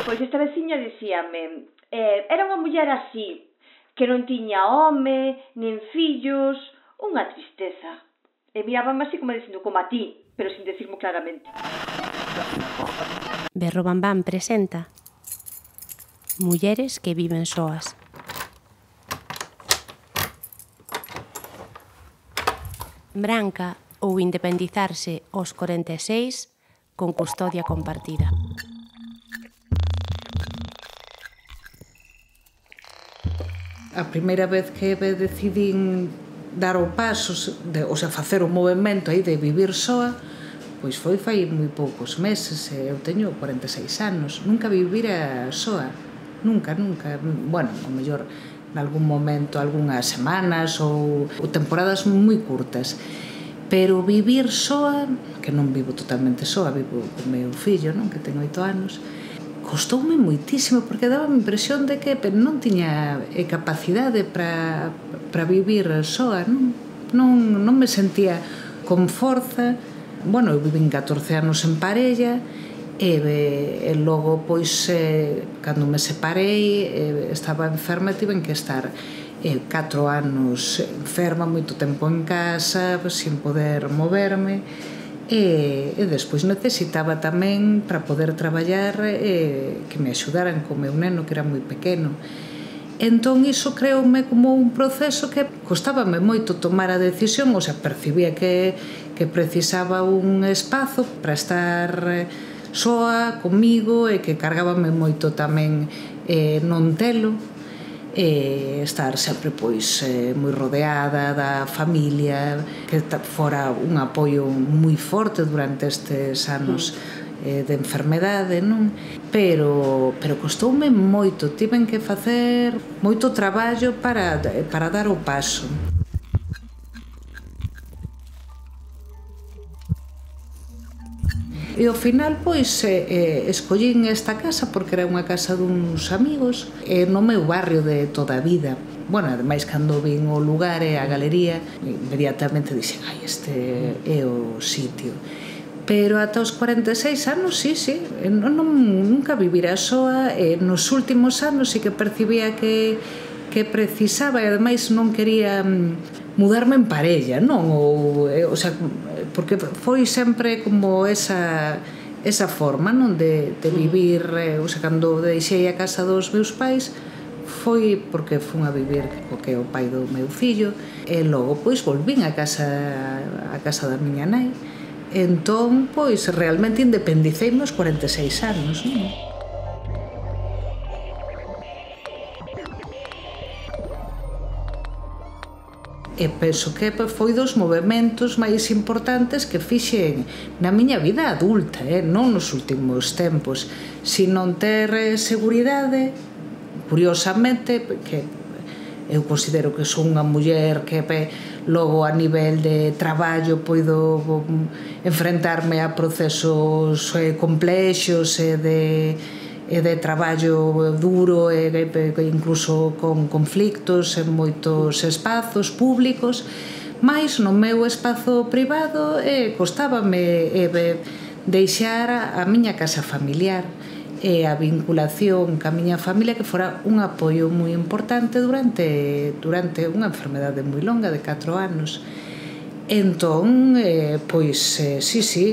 pois esta veciña dicíame, era unha muller así, que non tiña home, nin fillos, unha tristeza. E mirábame así como dicindo, como a ti, pero sin decirmo claramente. Berro Bambán presenta Mulleres que viven soas. Branca ou independizarse aos 46 con custodia compartida. A primeira vez que decidín dar o paso, o sea, facer o movimento aí de vivir soa, pois foi fai moi poucos meses, eu teño 46 anos, nunca vivira soa, nunca. Bueno, ao mellor nalgún momento, algunhas semanas ou temporadas moi curtas, pero vivir soa, que non vivo totalmente soa, vivo co meu fillo, non, que ten 8 anos, costoume moitísimo, porque daba a impresión de que non tiña capacidade para vivir soa, non me sentía con forza. Bueno, eu vivín 14 anos en parella, e logo, pois, cando me separei, estaba enferma e tiven que estar 4 anos enferma, moito tempo en casa, sin poder moverme, e despois necesitaba tamén, para poder traballar, que me axudaran co meu neno, que era moi pequeno. Entón, iso creoume como un proceso que costábame moito tomar a decisión, o sea, percibía que precisaba un espazo para estar soa, comigo, e que cargábame moito tamén non telo, estar sempre pois moi rodeada da familia, que fora un apoio moi forte durante estes anos de enfermedade, non? Pero costoume moito, tiven que facer moito traballo para dar o paso. E ao final, pois, escollín esta casa porque era unha casa duns amigos no meu barrio de toda a vida. Bueno, ademais, cando vin o lugar e a galería, inmediatamente dixen, ai, este é o sitio. Pero ata os 46 anos, sí, nunca vivira soa, e nos últimos anos sí que percibía que precisaba, e ademais non quería mudarme en parella, non? O sea, porque foi sempre como esa forma, non? De vivir, o sea, cando deixei a casa dos meus pais, foi porque fun a vivir co que é o pai do meu fillo, e logo, pois, volvín a casa da miña nai. Entón, pois, realmente independiceime aos 46 anos, non? E penso que foi dos movementos máis importantes que fixen na miña vida adulta, non nos últimos tempos. Si non ter seguridade, curiosamente, que eu considero que son unha muller que logo a nivel de traballo poido enfrentarme a procesos complexos e de traballo duro, e incluso con conflictos en moitos espazos públicos, mais no meu espazo privado costábame deixar a miña casa familiar e a vinculación ca miña familia, que fora un apoio moi importante durante unha enfermedade moi longa de 4 anos. Entón, pois, sí,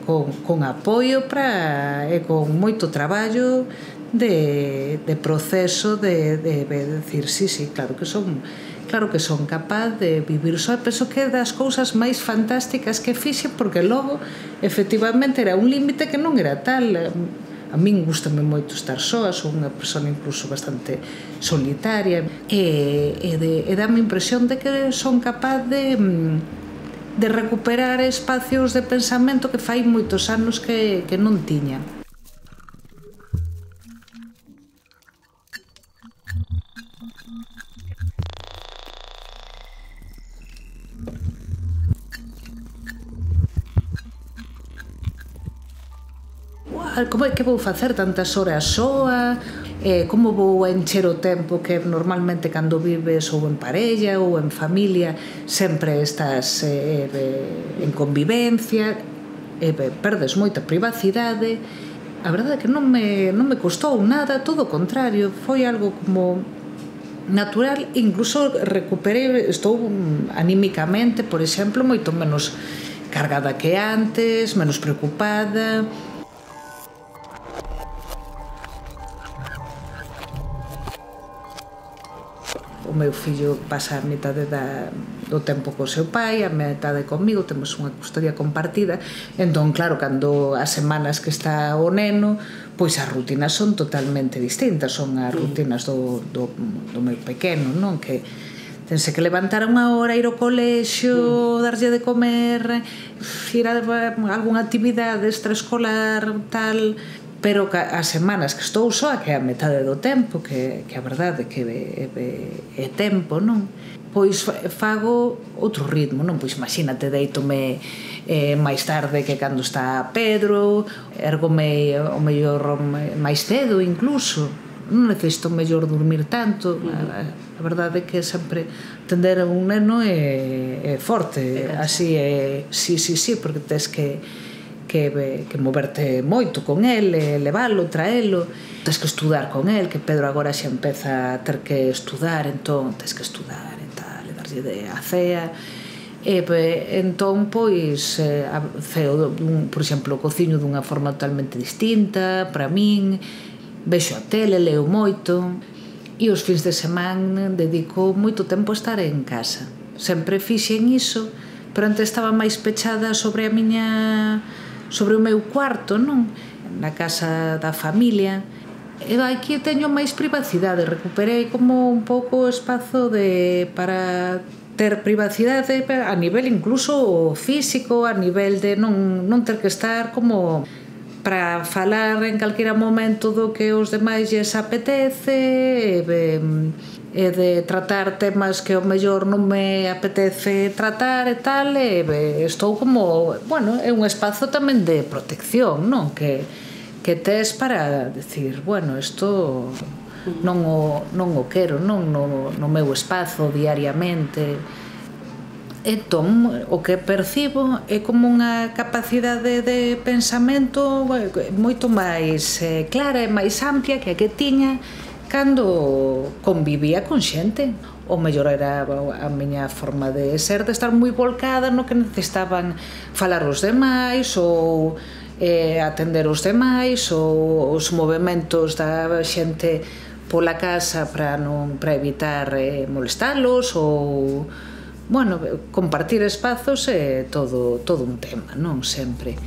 con apoio e con moito traballo de proceso de decir, sí, claro que son capaz de vivir só. Penso que é das cousas máis fantásticas que fixe, porque logo, efectivamente, era un límite que non era tal. A min gustame moito estar soa, sou unha persona incluso bastante solitaria, e dame a impresión de que son capaz de recuperar espacios de pensamento que fai moitos anos que non tiña. Como é que vou facer tantas horas soa? Como vou encher o tempo que normalmente cando vives ou en parella ou en familia sempre estás en convivencia, perdes moita privacidade, A verdade é que non me custou nada, todo o contrario, foi algo como natural, incluso recuperei, estou anímicamente, por exemplo, moito menos cargada que antes, menos preocupada. O meu fillo pasa a metade do tempo co seu pai, a metade comigo, temos unha custodia compartida, entón, claro, cando as semanas que está o neno, pois as rutinas son totalmente distintas, son as rutinas do meu pequeno, non? Que tense que levantar unha hora, ir ao colexio, darlle de comer, ir a algunha actividade extraescolar, tal, pero as semanas que estou soa, que é a metade do tempo, que a verdade que é tempo, non? Pois fago outro ritmo, non? Pois imagínate, deítome máis tarde que cando está Pedro, ergome o mellor máis cedo incluso, non necesito mellor dormir tanto. A verdade é que sempre atender a un neno é forte, así é, sí, porque tes que moverte moito con el, levalo, traelo, tens que estudar con el, que Pedro agora xa empeza a ter que estudar, entón tens que estudar e tal, e darlle a cea, e entón pois ceo, por exemplo, cociño dunha forma totalmente distinta para min, vexo a tele, leo moito, e os fins de semana dedico moito tempo a estar en casa. Sempre fixen iso, pero antes estaba máis pechada sobre o meu cuarto, non? Na casa da familia. E aquí teño máis privacidade, recuperei como un pouco o espazo para ter privacidade a nivel incluso físico, a nivel de non ter que estar como para falar en calquera momento do que os demais lles apetece, e de tratar temas que ao mellor non me apetece tratar e tal, e estou como, bueno, é un espazo tamén de protección, non? Que tes para decir, bueno, isto non o quero, non no meu espazo diariamente. Entón, o que percibo é como unha capacidade de pensamento moito máis clara e máis amplia que a que tiña cando convivía con xente. O mellor era a miña forma de ser, de estar moi volcada no que necesitaban falar os demais ou atender os demais, ou os movimentos da xente pola casa para evitar molestalos, ou bueno, compartir espazos é todo un tema, non sempre.